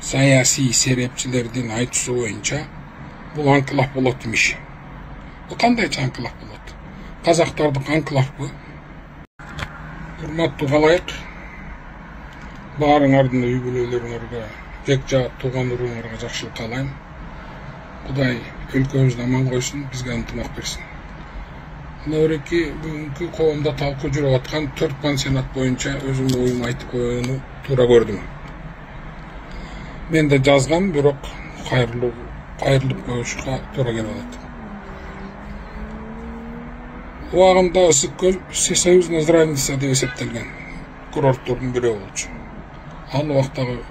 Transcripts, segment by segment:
саясий серепчилердин айтуусу боюнча бул анклав болот имиш. Бул кандайча анклав болот? Казактардык анклавбы? Урматтуу калайык, баарыңардын үй бүлөлөрүңөргө, жек жаат тууган уруңарга жакшылык каалайм. Кудай өлкөбүздү аман койсун, бизге ынтымак берсин. Мынабеки бүгүнкү коомдо талкуу жүрүп аткан 4 пансионат боюнча өзүмдүн оюмду айтып койгонду туура көрдүм. Мен да жазгам, бирок кайрылып коюшка туура келип атат. Убагында Ысык көл всесоюзная здравница деп эсептелген курорттордун бирөө болчу. Ал убактагы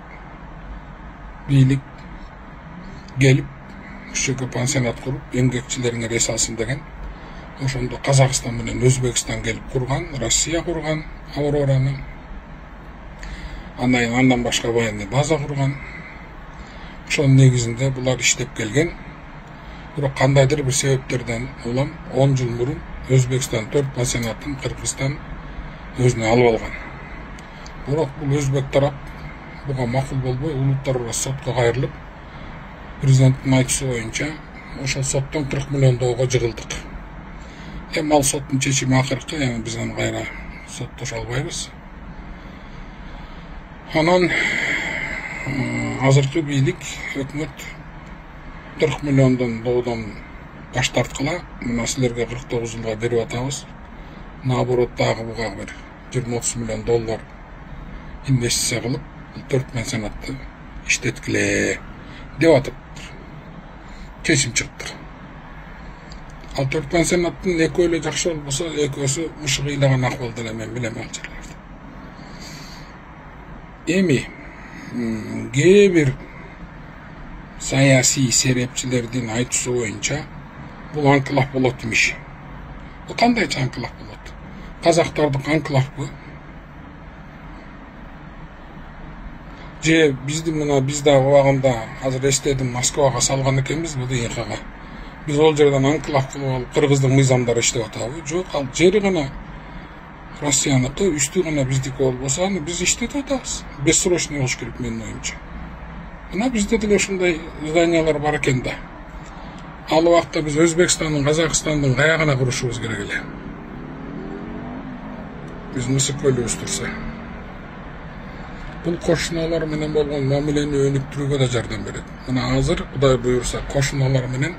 бийлик келип ушуга пансионат куруп, эмгекчилериңер эс алсын деген. Ошондо Казакстан менен Өзбекстан келип курган, Россия курган Аврораны. Андан башка военный база курган. Ошонун негизинде булар иштеп келген. Бирок кандайдыр бир себептерден улам 10 жыл мурун Өзбекстан 4 пансионатын Кыргызстан өзүнө алып алган. Бирок бул өзбек тарап буга макул болбой, улуттар арасы сотко кайрылып, президенттин айтуусу боюнча ошол соттон 40 миллион долларга жыгылдык. Эми ал соттун чечими акыркы, эми биз аны кайра соттошо албайбыз. Анан азыркы бийлик, өкмөт 40 миллиондон доллардан баш тарткыла, мына силерге 49 жылга берип атабыз. Наоборот, дагы буга бир 20-30 миллион доллар инвестиция кылып, 4 пансионатты иштеткиле деп атыптыр. Чечим чыктыр. Ал 4 пансионаттын экөө эле жакшы болбосо, экөөсү мышыгы ыйлаган акыбалда эле мен билем ал жерлерди. Эми кээ бир саясий серепчилердин айтуусу боюнча бул анклав болот имиш. Бул кандайча анклав болот? Казактардык анклавбы? Же биз да убагында азыр эстедим, Москвага салган экенбиз бул ИХга. Биз ол жерден анклав кылып алып кыргыздын мыйзамдары иштеп атабы? Жок, ал жери гана Россияныкы, үстү гана биздики болбосо, аны биз иштетип атабыз. Бессрочный болуш керек менин оюмча. Мына бизде деле ушундай зданиялар бар экен да. Ал убакта биз Өзбекстандын, Казакстандын каягына курушубуз керек эле. Биз Ысык көлүбүз турса. Бул кошуналар менен болгон мамилени өнүктүрүүгө да жардам берет. Мына азыр Кудай буйрса кошуналар менен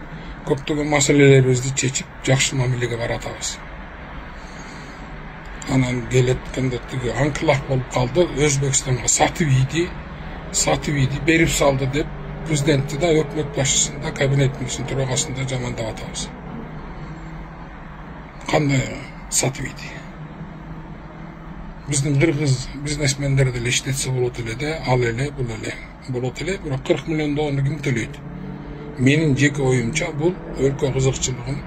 көптөгөн маселелерибизди чечип, жакшы мамилеге баратабыз. Анан келеткенде тиги анклав болуп калды, Өзбекстанга сатып ийди берип салды деп президентти да, өкмөт башчысын да, кабинет министринин төрагасын да жамандап атабыз. Кандай сатып ийди? Биздин кыргыз бизнесмендер деле иштетсе болот эле да, ал эле, бул эле болот эле, бирок 40 миллион долларны ким төлөйт? Менин жеке оюмча бул өлкө кызыкчылыгын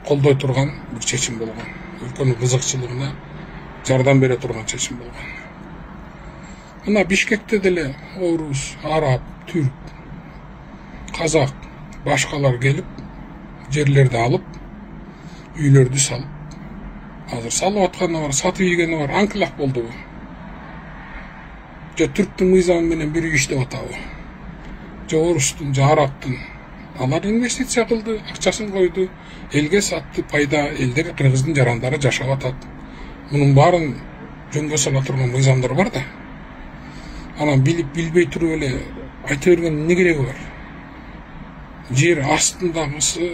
колдой турган бир чечим болгон. Өлкөнүн кызыкчылыгына жардам бере турган чечим болгон. Мына Бишкекте деле орус, араб, түрк, казак, башкалар келип, жерлерди алып, үйлөрдү салып, азыр салып атканы бар, сатып ийгени бар, анклав болдубу? Же түрктүн мыйзамы менен бир иштеп атабы? Же орустун, же арабтын? Алар инвестиция кылды, акчасын койду, элге сатты, пайда элдер, кыргыздын жарандары жашап атат. Мунун баарын жөнгө сала турган мыйзамдар бар да. Анан билип билбей туруп эле айта бергендин эмне кереги бар? Жер астындагысы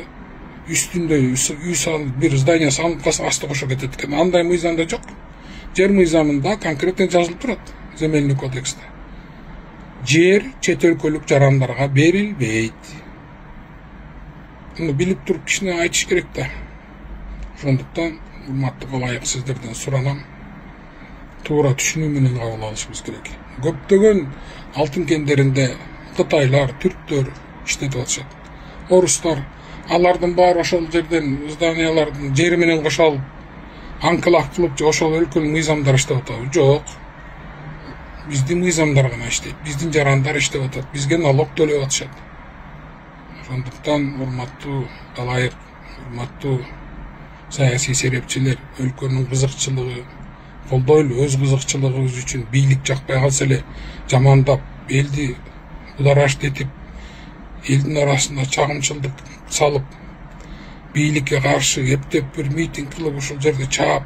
үстүндө үй салып, бир здание салып калса асты кошо кетет экен. Андай мыйзамда жок. Жер мыйзамында конкретно жазылып турат, земельный кодексте. Жер чет өлкөлүк жарандарга берилбейт. Муну билип туруп кичине айтыш керек да. Ошондуктан урматтуу калайык, сиздерден суранам, туура түшүнүү менен кабыл алышыбыз керек. Көптөгөн алтын кендеринде кытайлар, түрктөр иштетип атышат. Орустар, алардын баары ошол жерден зданиялардын жери менен кошо алып, анклав кылып, ошол өлкөнүн мыйзамдары иштеп атабы? Жок. Биздин мыйзамдар гана иштейт, биздин жарандар иштеп атат, бизге налог төлөп атышат. Ошондуктан урматтуу калайык, урматтуу саясий серепчилер, өлкөнүн кызыкчылыгы, колдойлу, өз кызыкчылыгыбыз үчүн бийлик жакпай калса эле жамандап, элди будараштетип, элдин арасында чагымчылдык салып, бийликке каршы эптеп бир митинг кылып ушул жерде чаап,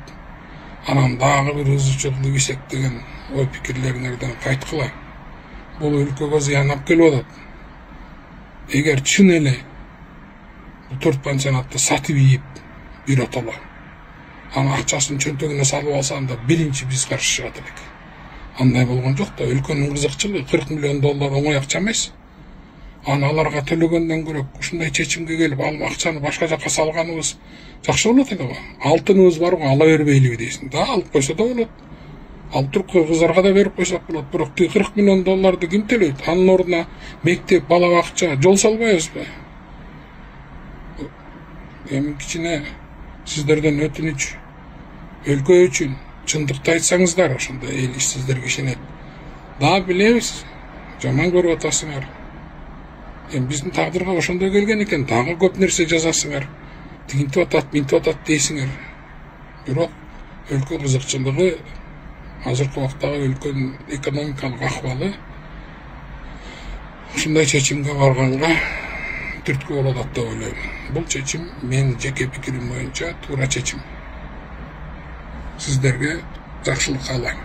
анан дагы бир ызычы кылып эсептеген ой пикирлериңерден кайткыла. Бул өлкөгө зыян алып келип атат. Эгер чын эле бул 4 пансионатты сатып ийип биротоло, анын акчасын чөнтөгүнө салып алсам биринчи биз каршы чыгат элек. Андай болгон жок да, өлкөнүн кызыкчылыгы $40 миллион оңой акча эмес. Аны аларга төлөгөндөн көрөк ушундай чечимге келип, ал акчаны башка жака салганыбыз жакшы болот эле го. Алтыныбыз бар го, ала бербейлиби дейсиң. Да, алып койсо да болот. Алып туруп кыргыздарга да берип койсок болот. Бирок $40 миллион ким төлөйт? Анын ордуна мектеп, бала бакча, жол салбайбызбы? Эми кичине сиздерден өтүнүч, өлкө үчүн чындыкты айтсаңыздар, ошондо эл сиздерге ишенет. Да, билебиз, жаман көрүп атасыңар. Эми биздин тагдырга ошондой келген экен, дагы көп нерсе жазасыңар. Тигинтип атат, минтип атат дейсиңер. Бирок өлкө кызыкчылыгы, азыркы убактагы өлкөнүн экономикалык акыбалы ушундай чечимге барганга түрткү болот деп ойлойм. Бул чечим менин жеке пикирим боюнча туура чечим. Сиздерге жакшылык каалайм.